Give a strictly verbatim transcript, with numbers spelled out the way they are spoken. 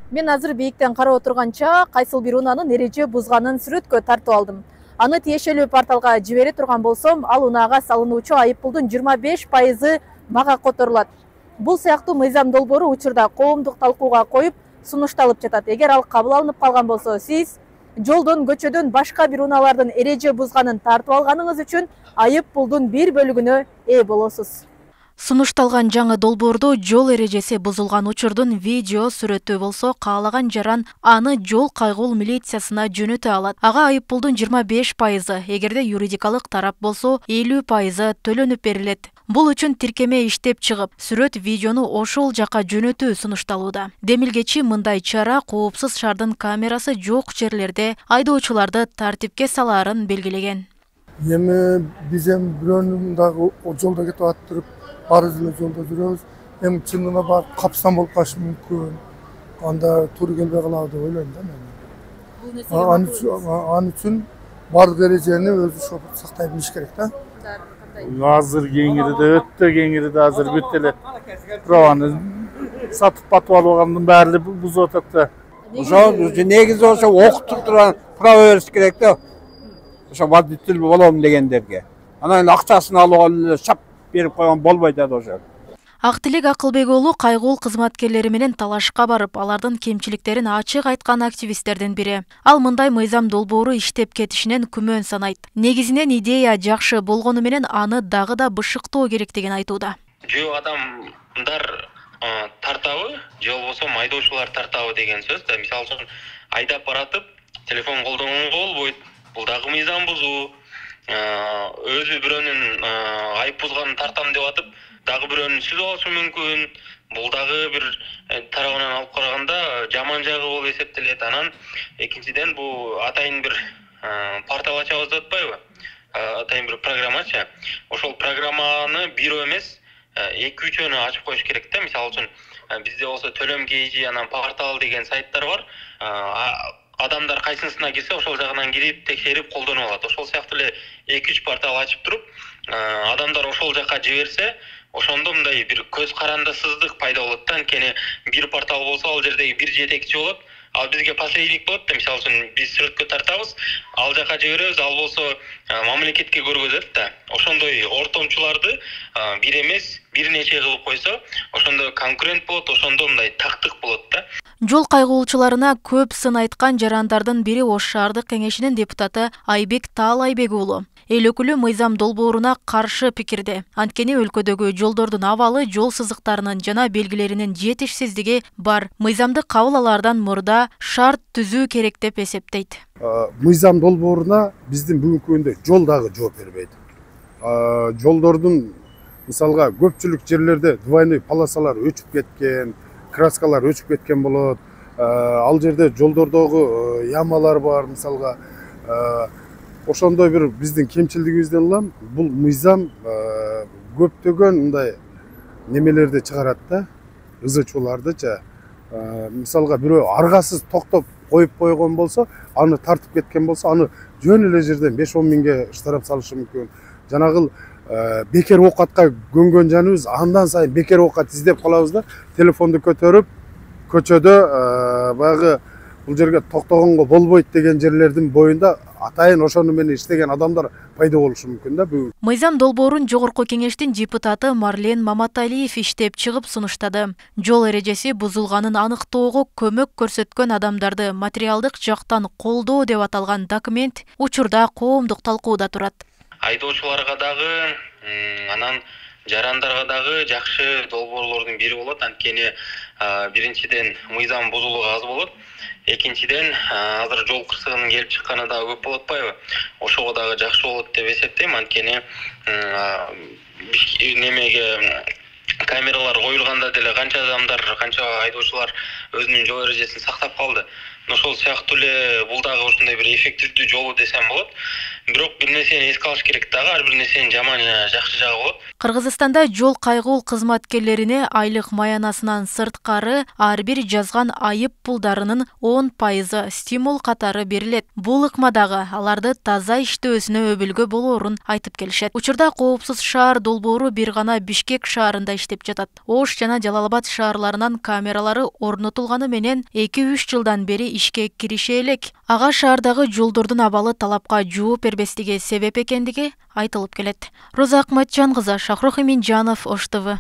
Мен азыр бийиктен карап отурганча кайсыл бир унаанын эреже бузганын сүрөткө тартып алдым. Аны тиешелүү порталга жибере турган болсом, ал унаага салынуучу айыппулдун жыйырма беш пайызы мага которулат. Бул сыяктуу мыйзам долбоору учурда коомдук талкууга коюп сунушталып жатат. Эгер ал кабыл алынып калган болсо, сиз жолдон, көчөдөн башка бир унаалардын эреже бузганын тартып алганыңыз үчүн айыппулдун бир бөлүгүнө ээ болосуз. Сунушталган жаңы долбоордо жол эрежеси бузулган учурдун видео сүрөтү болсо, каалаган жаран аны жол кайгул милициясына жөнөтө алат. Ага айыппулдун жыйырма беш пайызы, эгерде юридикалык тарап болсо элүү пайызы төлөнүп берилет. Бул үчүн тиркеме иштеп чыгып, сүрөт видеону ошол жака жөнөтүү сунушталууда. Демилгечи мындай чара коопсуз шаардын камерасы жок жерлерде айдоочуларды тартипке салаарын белгилеген. Эми биз эми бирөөнүн дагы жолдо кетип атып арыз эле жолдо жүрөбүз. Эми чынына барып капсам болуп калышы мүмкүн. Анда туура келбей калабы деп ойлойм да мен. Ал үчүн бардык эрежени өзү шопут сактай билиш керек да. Азыр кеңириде өтө кеңириде азыр бүт эле праваны сатып батып алгандын баары бузуп атат да. Ошо негизи ошо окутуп турган право бериш керек да. Ошо водитель болом дегендерге. Анан акчасын алып эле шап берип койгон болбойт да ошо. Актилек Акылбек уулу кайгул кызматкерлери менен талашка барып, алардын кемчиликтерин ачык айткан активисттердин бири. Ал мындай мыйзам долбоору иштеп кетишинен күмөн санайт. Негизинен идея жакшы болгону менен аны дагы да бышыктоо керектигин айтууда. Жөө адамдар тартабы, же болбосо айдоочулар тартабы деген сөз да. Мисалы үчүн айдап баратып, телефон колдонгонго болбойт. Бул дагы мыйзам бузуу. Өзү бирөөнүн айып бузганын тартам деп атып, дагы бирөөнүн сүзүп алышы мүмкүн. Бул дагы бир тарабынан алып караганда жаман жагы болуп эсептелет. Анан экинчиден бул атайын бир портал ачабыз деп атпайбы? Атайын бир программачы. Ошол программаны бирөө эмес, эки үчөөнү ачып коюш керек да. Мисалы үчүн бизде болсо төлөм кейжи, анан портал деген сайттар бар. Адамдар кайсысына кирсе, ошол жагынан кирип, текшерип, колдонуп алат. Ошол сыяктуу эле эки үч портал ачып туруп, адамдар ошол жака жиберсе, ошондо мындай бир көз карандысыздык пайда болот да. Анткени бир портал болсо, ал жердеги бир жетекчи болот. Ал бизге посредник болот да. Мисалы үчүн биз сүрөткө тартабыз, ал жака жиберебиз, ал болсо мамлекетке көргөзөт да. Ошондой ортомчуларды бир эмес, бир нече кылып койсо, ошондо конкурент болот, ошондо мындай тактык болот да. Жол кайгуулчуларына көп сын айткан жарандардын бири Ош шаардык кеңешинин депутаты Айбек Таалайбек уулу. Эл өкүлү мыйзам долбооруна каршы пикирде. Анткени өлкөдөгү жолдордун абалы, жол сызыктарынын жана белгилеринин жетишсиздиги бар. Мыйзамды кабыл алаардан мурда шарт түзүү керек деп эсептейт. Мыйзам долбооруна биздин бүгүнкү күндө жол дагы жооп бербейт. Жолдордун мисалга көпчүлүк жерлерде двойной полосалар өчүп кеткен, краскалар өчүп кеткен болот. Ал жерде жолдордогу ямалар бар, мисалга. Ошондой бир биздин кемчилигибизден улам бул мыйзам көптөгөн мындай немелерди чыгарат да, ызычуулардычы. Мисалга бирөө аргасыз токтоп коюп койгон болсо, аны тартып кеткен болсо, аны жөн эле жерден беш он миңге штраф салышы мүмкүн. Жанагыл бекер оокатка көнгөн жаныбыз андан сайын бекер оокат издеп калабыз да, телефонду көтөрүп, көчөдө баягы бул жерге токтогонго болбойт деген жерлердин боюнда атайын ошону менен иштеген адамдар пайда болушу мүмкүн да. Мыйзам долбоорун жогорку кеңештин депутаты Марлен Маматалиев иштеп чыгып сунуштады. Жол эрежеси бузулганын аныктоого көмөк көрсөткөн адамдарды материалдык жактан колдоо деп аталган документ учурда коомдук талкууда турат. Айдоочуларга дагы, анан жарандарга дагы жакшы долбоорлордун бири болот. Анткени биринчиден мыйзам бузулугу аз болот. Экинчиден азыр жол кырсыгынын келип чыкканы дагы көп болуп атпайбы? Ошого дагы жакшы болот деп эсептейм. Анткени немеге камералар коюлганда деле канча адамдар, канча айдоочулар өзүнүн жол эрежесин сактап калды. Ошол сыяктуу эле бул дагы ошондой бир эффективдүү жолу десем болот. бирок бир нерсени эске алыш керек дагы, ар бир нерсенин жаман жана жакшы жагы болот. Кыргызстанда жол кайгуул кызматкерлерине айлык маянасынан сырткары ар бир жазган айып пулдарынын он пайызы стимул катары берилет. Бул ыкмадагы аларды таза иштөөсүнө өбүлгө болоорун айтып келишет. Учурда коопсуз шаар долбоору бир гана Бишкек шаарында иштеп жатат. Ош жана Жалал-Абад шаарларынан камералары орнотулганы менен эки үч жылдан бери ишке киреше элек. Ага шаардагы жолдордун абалы талапка жооп бербестиги себеп экендиги айтылып келет. Роза Акматжан кызы, Шахрух Эминжанов, Ош ТВ.